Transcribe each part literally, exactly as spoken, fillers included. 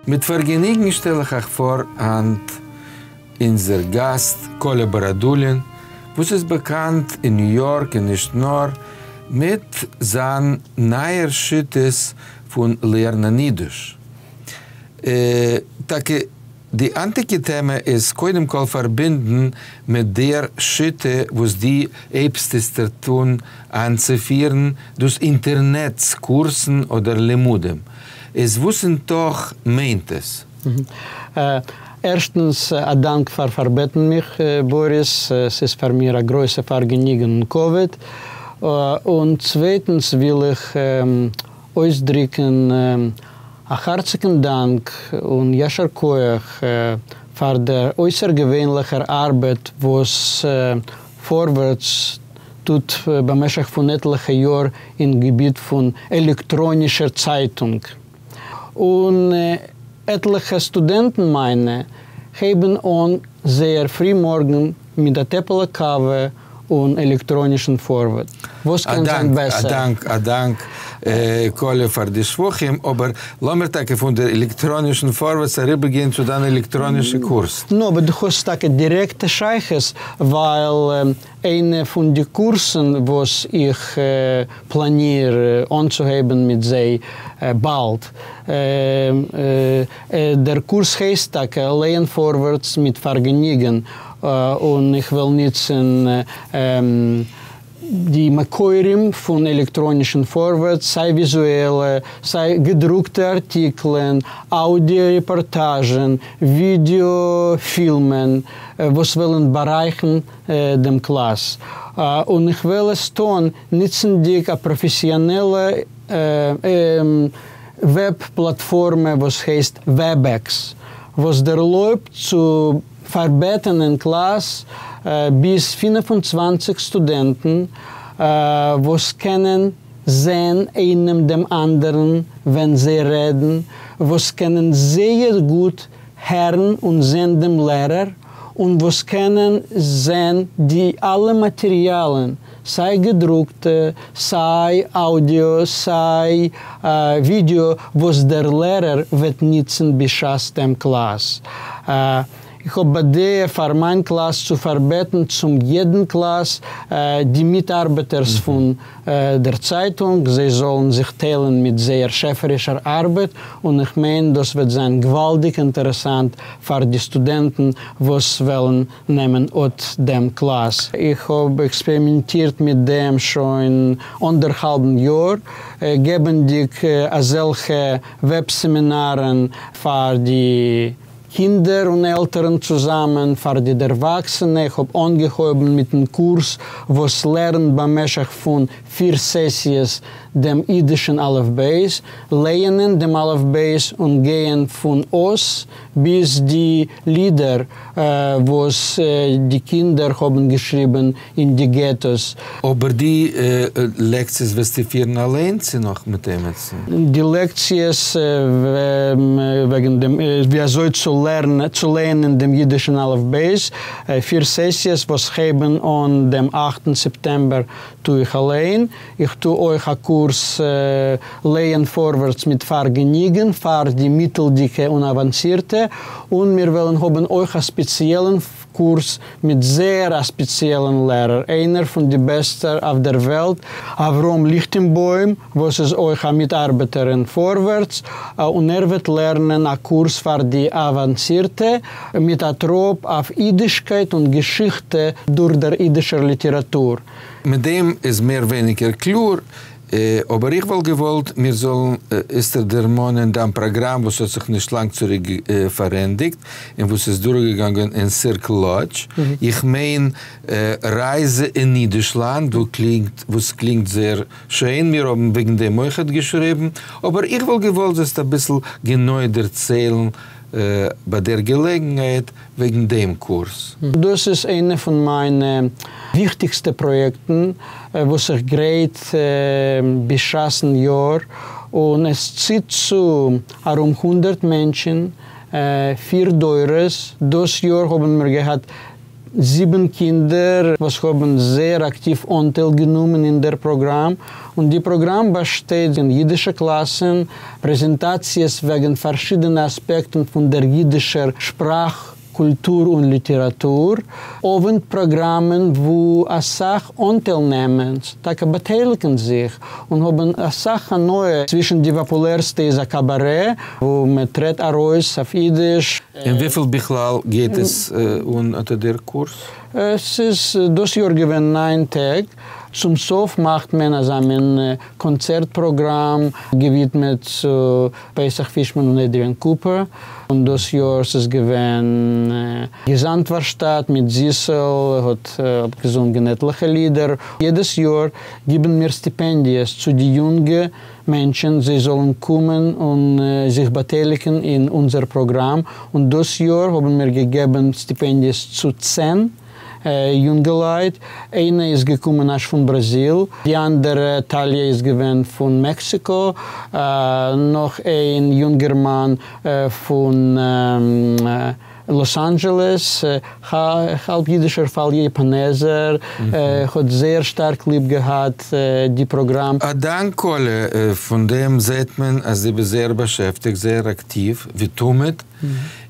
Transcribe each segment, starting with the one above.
מיט פארגעניגן שטעל איך אייך פאר היינט אונזער גאסט קאלע באראדולין, וואס איז באקאנט אין ניו יארק און נישט נאר, מיט זיין נייער שיטות פון לערנען אידיש. טאקע די היינטיגע טעמע איז קודם כל פארבינדן מיט דער שיטה וואס דו הייבסט איצטערט אן איינצופירן, דאס אינטערנעץ קורסן אדער לימודים. איז וואס אין תוך מיינט עס? ערשטנס, א דאנק פאר פארבעטן מיך, באריס, ס'איז פאר מיר א גרויסע פארגעניגן און כבוד. און צווייטנס וויל איך אויסדריקן א הארציגן דאנק און יישר כח פאר דער אויסערגעווענליכער ארבעט וואס פארווערטס טוט במשך פון עטליכע יאר אין געביט פון עלעקטראנישער צייטונג. און עטליכע סטודענטן מיינע הייבן אן זייער פרימארגן מיט א טעפעלע קאווע און עלעקטראנישן פארווערטס. וואס קען זיין בעסער? א דאנק, א דאנק קאלע פאר די שבחים, אבער לאמיר טאקע פון דער עלעקטראנישן פארווערטס אריבערגיין צו דיין עלעקטראנישע קורס. נו, אבער דו האסט טאקע דירעקטע שייכות, ווייל איינע פון די קורסן וואס איך פלאניר אנצוהייבן מיט זיי באלד, דער קורס הייסט טאקע לייען פארווערטס מיט פארגעניגן, און איך וועל ניצן די מקורים פון עלעקטראנישן פארווערטס, סיי וויזועלע, סיי געדרוקטע ארטיקלען, אוידיא רעפארטאזשן, ווידעא פילמען, וואס וועלן בארייכן דעם קלאס. און איך וועל עס טון ניצנדיג א פראפעסיאנעלע וועב פלאטפארמע וואס הייסט Webex, וואס דערלויבט צו פארבעטן אין קלאס ביז פֿינף און צוואַנציק סטודענטן וואס קענען זען איינעם דעם אנדערן ווען זיי רעדן, וואס קענען זייער גוט הערן און זען דעם לערער, און וואס קענען זען די אלע מאטעריאלן, סיי געדרוקטע, סיי אודיאו, סיי ווידעא, וואס דער לערער וועט ניצן בשעת דעם קלאס. איך האב בדעה פאר מיין קלאס צו פארבעטן צום יעדן קלאס די מיטארבעטערס פון דער צייטונג, זיי זאלן זיך טיילן מיט זייער שעפערישער ארבעט, און איך מיין דאס וועט זיין געוואלדיג אינטערעסאנט פאר די סטודענטן וואס וועלן נעמען אט דעם קלאס. איך האב עקספערימענטירט מיט דעם שוין אנדערהאלבן יאר, געבנדיג אזעלכע וועב-סעמינארן פאר די קינדער און עלטערן צוזאמען, פאר די דערוואקסענע. איך האב אנגעהויבן מיטן קורס וואס לערנט במשך פון פיר סעסיעס דעם אידישן אלף בית, לייענען דעם אלף בית און גייען פון אות ביז די לידער וואס די קינדער האבן געשריבן אין די געטאס. אבער די לעקציעס וועסטו פירן אליין צי נאך מיט עמיצן? די לעקציעס וועגן דעם ווי אזוי צו לערנען צו לייענען דעם אידישן אלף בית, פיר סעסיעס וואס הייבן אן דעם אכטן סעפטעמבער, טו איך אליין. איך טו אויך א קורס לייען פארווערטס מיט פארגעניגן פאר די מיטלדיגע און אוואנסירטע, און מיר וועלן האבן אויך א ספעציעלן קורס מיט זייער א ספעציעלן לערער, איינער פון די בעסטע אויף דער וועלט, אברהם ליכטענבוים, וואס איז אויך א מיטארבעטער אין פארווערטס, און ער וועט לערנען א קורס פאר די אוואנסירטע, מיט א טראפ אויף אידישקייט און געשיכטע דורך דער אידישער ליטעראטור. מיט דעם איז מער ווייניגער קלאר, אבער איך וואלט געוואלט מיר זאלן איצטער דערמאנען דיין פראגראם וואס האט זיך נישט לאנג צוריק פארענדיגט און וואס איז דורכגעגאנגען אין סירקל לאדזש, איך מיין רייזע אין אידישלאנד, וואס קלינגט זייער שיין, מיר האבן וועגן דעם אויכעט געשריבן, אבער איך וואלט געוואלט זאלסט אביסל גענוי דערציילן ביי דער געלעגנהייט וועגן דעם קורס. דאס איז איינע פון מיינע וויכטיגסטע פראיעקטן וואס איך גרייט בשעת'ן יאר, און עס ציט צו ארום הונדערט מענטשן, פיר דורות. דאס יאר האבן מיר געהאט זיבן קינדער, וואס האבן זייער אקטיוו אנטייל גענומען אין דער פראגראם. און די פראגראם באשטייט אין יידישע קלאסן, פרעזענטאציעס וועגן פארשידענע אספעקטן פון דער יידישער שפראך, קולטור און ליטעראטור, אוונט פראגראמען, וואו א סך אנטיילנעמערס טאקע באטייליגן זיך און האבן א סך הנאה. צווישן די פאפולערסטע איז א קאבארע, וואו מען טרעט ארויס אויף יידיש. און וויפיל בכלל גייט עס אן אט דער קורס? עס איז דאס יאר געווען ניין טעג. צום סוף מאכט מען אזא מין קאנצערט פראגראם געווידמעט צו פסח פישמאן און עדריאן קופער. און דאס יאר איז געווען געזאנג-ווארשטאט מיט זיסל, האט אפגעזונגען עטליכע לידער. יעדעס יאר גיבן מיר סטיפענדיעס צו די יונגע מענטשן, זיי זאלן קומען און זיך באטייליגן אין אונזער פראגראם. און דאס יאר האבן מיר געגעבן סטיפענדיעס צו צען יונגעלייט. איינע איז געקומען אזש פון בראזיל, די אנדערע טאליא איז געווען פון מעקסיקא, נאך איין יונגערמאן פון לאס אנדזשעלעס, האלב יידישער האלב יאפאנעזער, האט זייער שטארק ליב געהאט די פראגראם. א דאנק קאלע, פון דעם זעט מען, אז דו ביסט זייער באשעפטיגט, זייער אקטיוו, ווי תמיד.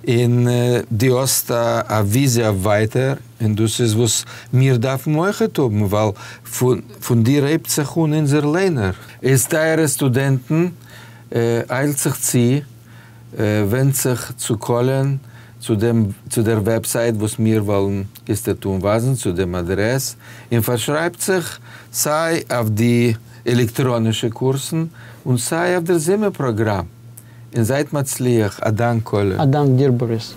און דו האסט א וויזיע ווייטער, און דאס איז וואס מיר דארפן אויך האבן, ווייל פון, פון דיר הייבט זיך אן אונזער לייענער. איז טייערע סטודענטן, איילט זיך צו, ווענדט זיך צו קאלען, צו דעם, צו דער website, וואס מיר וועלן איצטערט אנווייזן, צו דעם אדרעס, און פארשרייבט זיך, סיי אויף די עלעקטראנישע קורסן און סיי אויף דער זומער פראגראם. און זייט מצליח, א דאנק קאלע. א דאנק דיר, באריס.